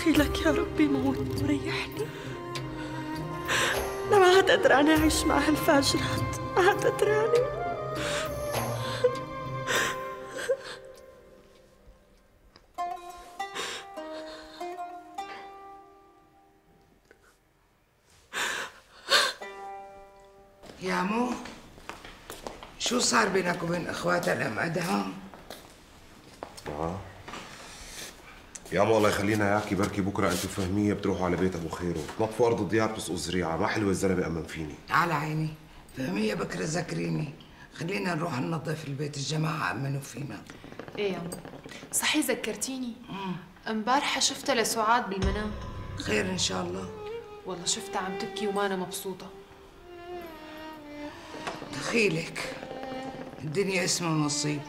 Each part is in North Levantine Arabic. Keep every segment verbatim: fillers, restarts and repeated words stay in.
بدخيلك يا ربي موت وريحني. أنا ما عاد قدرانة أعيش مع هالفاجرات، ما عاد قدرانة. يا مو شو صار بينك وبين اخواتها الام ادهم؟ اه يا مو الله يخلينا اياكي، بركي بكره انتم فهميه بتروحوا على بيت ابو خيرو، تنظفوا ارض الديار بتسقوا زريعه، ما حلوه الزلمه امن فيني. على عيني، فهميه بكره ذكريني، خلينا نروح ننظف البيت، الجماعه امنوا فينا. ايه يا مو صحي ذكرتيني، امبارحه شفتها لسعاد بالمنام. خير ان شاء الله. والله شفتها عم تبكي وما انا مبسوطه. دخيلك الدنيا اسمه نصيب،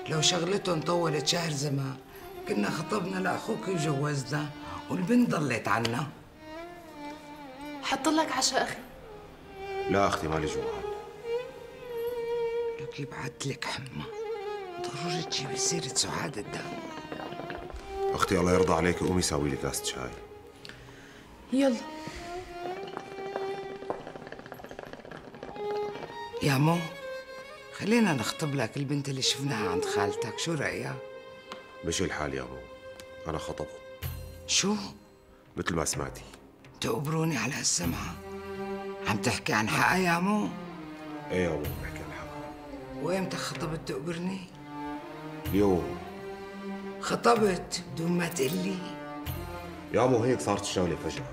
لو شغلتهم طولت شهر زمان كنا خطبنا لاخوك وجوزنا والبنت ضلت عنا. حط لك عشاء اخي. لا اختي مالي جوعان. لك يبعت لك حمى، ضروري تجيبي سيرة سعاد الدم. اختي الله يرضى عليك، قومي ساوي لي كاسة شاي. يلا يا مو خلينا نخطب لك البنت اللي شفناها عند خالتك، شو رأيك؟ مشي الحال يا مو، أنا خطبت. شو؟ مثل ما سمعتي. تقبروني على هالسمعة، عم تحكي عن حقها يا مو؟ ايه يا مو بحكي عن حقها. وإمتى خطبت تقبرني؟ اليوم. خطبت بدون ما تقلي؟ يا مو هيك صارت الشغلة فجأة.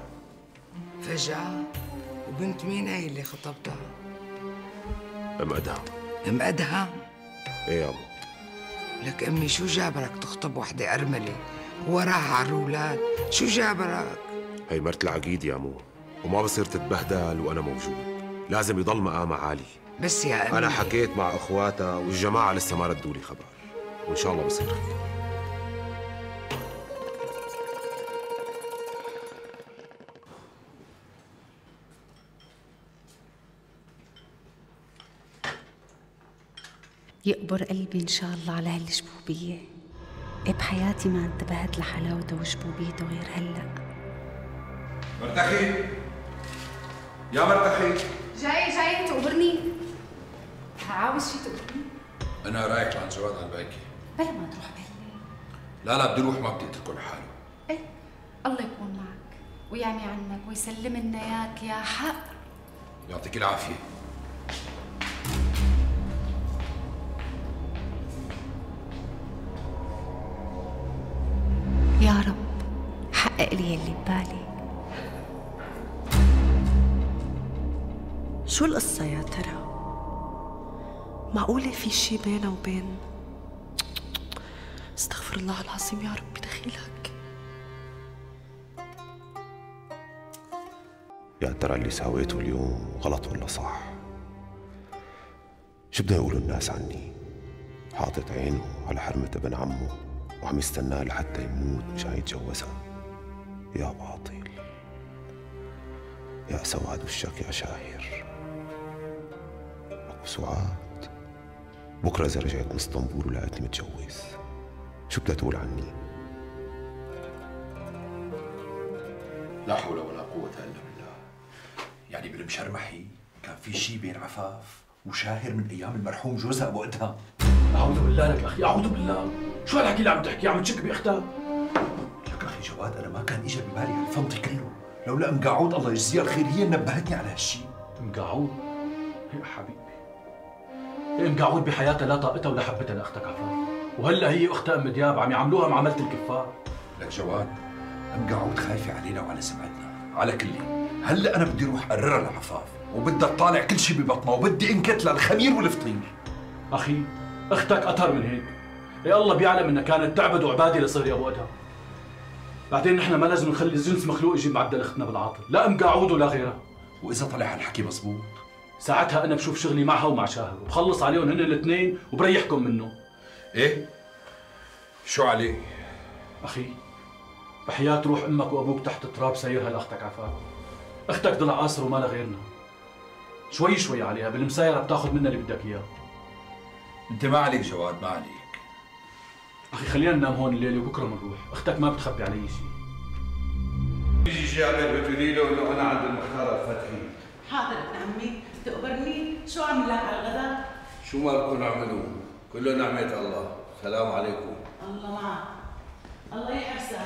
فجأة؟ وبنت مين هي اللي خطبتها؟ ام ادهم. ام ادهم؟ ايه يا مو. لك امي شو جابرك تخطب وحده ارمله وراها على الاولاد؟ شو جابرك؟ هي مرت العقيد يا مو، وما بصير تتبهدل وانا موجود، لازم يضل مقامها عالي. بس يا امي انا حكيت مع اخواتها والجماعه لسه ما ردوا لي خبر، وان شاء الله بصير خير. يقبر قلبي إن شاء الله على هالجبوبية. إيه بحياتي ما انتبهت لحلاوته وجبوبيته غير هلأ. مرتخي يا مرتخي، جاي جاي تقبرني؟ عاوز شي تقبرني؟ أنا رايح لعند جواد على الباكي. بلا ما تروح بهالليل. لا لا بدي أروح، ما بدي أتركه لحاله. إيه الله يكون معك ويعمي عنك ويسلم لنا إياك يا حق. يعطيك العافية. يا رب حقق لي اللي ببالي. شو القصة يا ترى؟ معقولة في شي بينه وبين؟ استغفر الله العظيم يا ربي دخيلك. يا ترى اللي سويته اليوم غلط ولا صح؟ شو بده يقولوا الناس عني؟ حاطط عينه على حرمة ابن عمه وعم يستناه لحتى يموت مشان يتجوزها. يا باطل، يا سواد وشك يا شاهر. أبو سعاد بكره إذا رجعت من اسطنبول ولقيتني متجوز شو بدها تقول عني؟ لا حول ولا قوة إلا بالله. يعني بالمشرمحي كان في شيء بين عفاف وشاهر من أيام المرحوم جوزها أبو أدهم. أعوذ بالله لك أخي، أعوذ بالله. شو هالحكي اللي عم تحكي؟ عم تشك بأختها؟ لك أخي جواد، أنا ما كان إجا ببالي هالفنطي كله، لولا أم قاعود الله يجزيها الخير هي نبهتني على هالشيء. أم قاعود؟ يا حبيبي، أم قاعود بحياتها لا طاقتها ولا حبتها لأختك عفاف، وهلا هي أختها أم دياب عم يعاملوها معاملة الكفار. لك جواد، أم قاعود خايفة علينا وعلى سمعتنا، على كلي، هلا أنا بدي أروح أقررها لعفاف، وبدها تطالع كل شيء ببطنها، وبدي انكت للخمير والفطير. أخي، أختك أطهر من هيك. يا الله بيعلم إنها كانت تعبد وعبادة لصهري أبو أدهم. بعدين نحن ما لازم نخلي جنس مخلوق يجيب معدل أختنا بالعاطل، لا أم قاعود ولا غيرها. وإذا طلع هالحكي مزبوط؟ ساعتها أنا بشوف شغلي معها ومع شاهر، وبخلص عليهم هن الاثنين وبريحكم منه. إيه؟ شو عليه؟ أخي، بحياة روح أمك وأبوك تحت تراب سيرها لأختك عفاف. أختك ضلع قاصر وما لها غيرنا. شوي شوي عليها، بالمسايرة بتاخذ منها اللي بدك إياه. أنت ما عليك جواد، ما عليك. أخي خلينا ننام هون الليلة وبكرة بنروح، أختك ما بتخبي علي شيء. جابر بتقولي له انه انا عند المختار الفتحي. حاضر ابن عمي، تقبرني شو عمل لك على الغداء؟ شو ما بدكم اعملوا؟ كله نعمة الله. السلام عليكم. الله معك. الله يحرسك.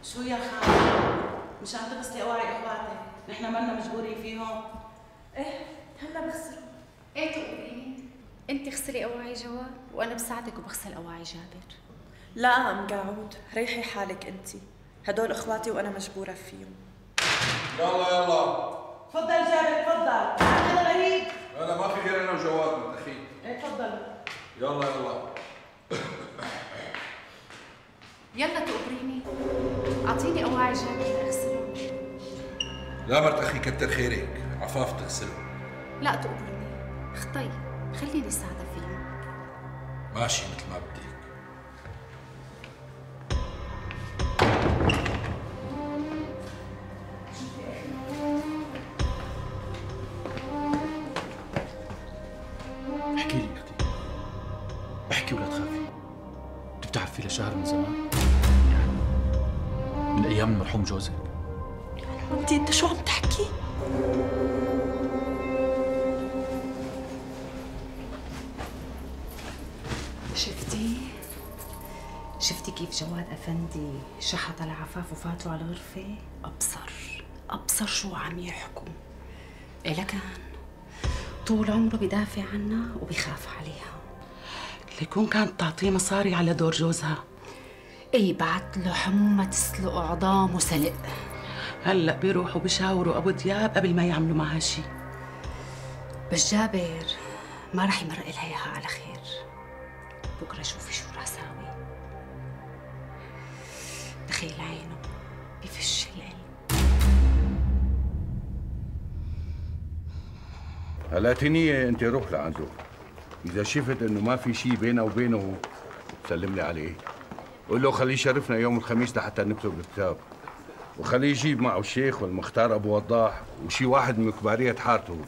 شو يا خالد؟ مشان تغسلي اواعي اخواتك، نحن مالنا مجبورين فيهم. ايه هلا بغسلهم. ايه تقوليني؟ انت اغسلي اواعي جواد وانا بساعدك وبغسل اواعي جابر. لا ام قاعود، ريحي حالك انت، هدول اخواتي وانا مجبوره فيهم. يلا يلا تفضل جابر تفضل، هذا غريب. لا ما في غير انا وجواد من اخي. ايه تفضل. يلا يلا يلا تقبريني، اعطيني اواعي جابر لاغسلهم. لا مرت اخي كتر خيرك، عفاف تغسلهم. لا تقبرني، اخطي خليني ساعدة فيهم. ماشي مثل ما بدك. احكي لي اختي، احكي ولا تخافي. انت بتعرفي لشهر من زمان، من ايام المرحوم جوزك. انت انت شو عم تحكي؟ شفتي؟ شفتي كيف جواد أفندي شحط على عفاف وفاتوا على الغرفة؟ أبصر أبصر شو عم يحكوا. إيه لكان طول عمره بدافع عنها وبيخاف عليها. ليكون كانت تعطيه مصاري على دور جوزها. إيه بعت له حمومة تسلق عظام وسلق. هلا بيروحوا بشاوروا ابو دياب قبل ما يعملوا معها شيء. بس جابر ما رح يمرق لها اياها على خير. بكره شوفي شو رح ساوي. تخيل عينه بفش القلب. هلا تنية انت روح لعنده، اذا شفت انه ما في شيء بينه وبينه سلم لي عليه، قول له خليه يشرفنا يوم الخميس لحتى نكتب الكتاب، وخليه يجيب معه الشيخ والمختار ابو وضاح وشي واحد من كبارية حارته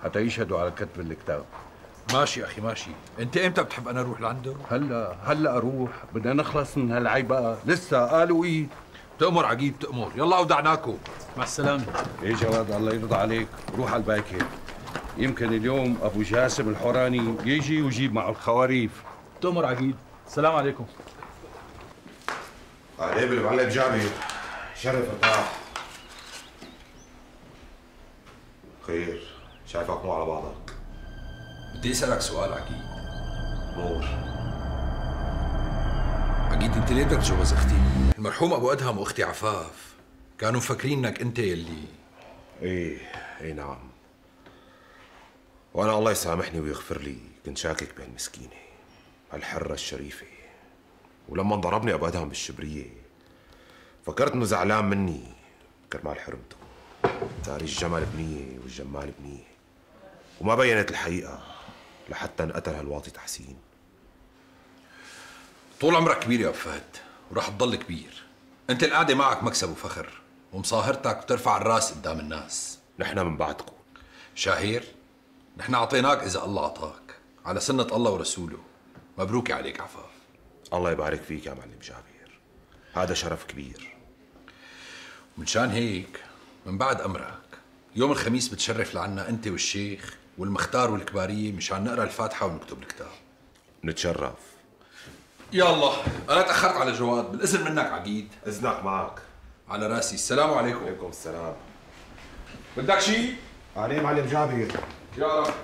حتى يشهدوا على كتب الكتاب. ماشي اخي ماشي. انت امتى بتحب انا اروح لعنده؟ هلا هلا اروح، بدنا نخلص من هالعيب بقى، لسه قالوا ايه. تأمر عقيب تأمر. يلا ودعناكم. مع السلامة. ايه جواد الله يرضى عليك، روح على الباكر. يمكن اليوم ابو جاسم الحوراني يجي ويجيب معه الخواريف. تأمر عقيد. السلام عليكم. عليه بالمعلم جابر. شرف ارتاح. خير، شايفك مو على بعضك. بدي اسألك سؤال عقيد. نور. عقيد انت ليه بدك تتجوز اختي؟ المرحوم ابو ادهم واختي عفاف كانوا مفكرين انك انت يلي. ايه ايه نعم. وانا الله يسامحني ويغفر لي كنت شاكك بهالمسكينه هالحره الشريفه، ولما ضربني ابو ادهم بالشبريه فكرت انه زعلان مني كرمال حرمته. داري الجمل بنيه والجمال بنيه، وما بينت الحقيقه لحتى انقتل هالواطي تحسين. طول عمرك كبير يا ابو فهد وراح تضل كبير. انت القعده معك مكسب وفخر ومصاهرتك بترفع الراس قدام الناس. نحن من بعدكم شاهير، نحن اعطيناك اذا الله اعطاك على سنه الله ورسوله. مبروك عليك عفاف. الله يبارك فيك يا معلم جابر، هذا شرف كبير. ومنشان هيك من بعد امرك يوم الخميس بتشرف لعنا انت والشيخ والمختار والكباريه مشان نقرا الفاتحه ونكتب الكتاب. نتشرف. يلا انا تاخرت على جواد، بالاذن منك عقيد. اذنك معك. على راسي. السلام عليكم. وعليكم السلام. بدك شيء؟ عليه معلم جابر. يا رب.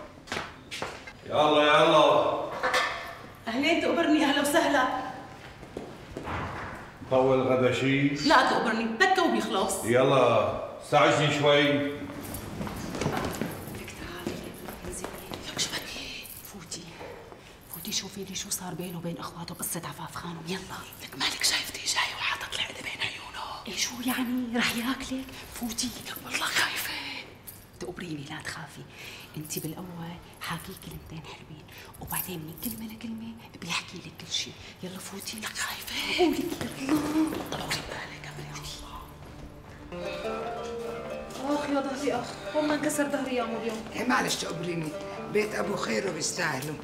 يلا يلا. اهلين تقبرني، اهلا وسهلا. طول غدا شيء؟ لا تقبرني، دكه وبيخلص. يلا استعجلي شوي. لك تعالي لك شو بدي؟ فوتي فوتي شوفي لي شو صار بينه وبين اخواته بقصة عفاف خانم. يلا لك مالك شايفتي جاي وحاطط العقد بين عيونه؟ ايه شو يعني رح ياكلك؟ فوتي. لك والله خايفه. تقبريني لا تخافي، انت بالاول حاكي كلمتين حلوين وبعدين من كلمه لكلمه بيحكي لك كل شيء. يلا فوتي. لك خايفه. قولي يلا. طلعي بالك امري الله. اخ يا ظهري اخ، هون ما انكسر ظهري يا ام اليوم. ايه معلش تقبريني، بيت ابو خير وبيستاهلوا.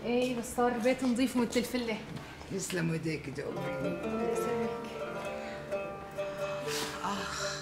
ايه بس صار البيت نظيف ومثل الفله. يسلم ايديك تقبريني. اخ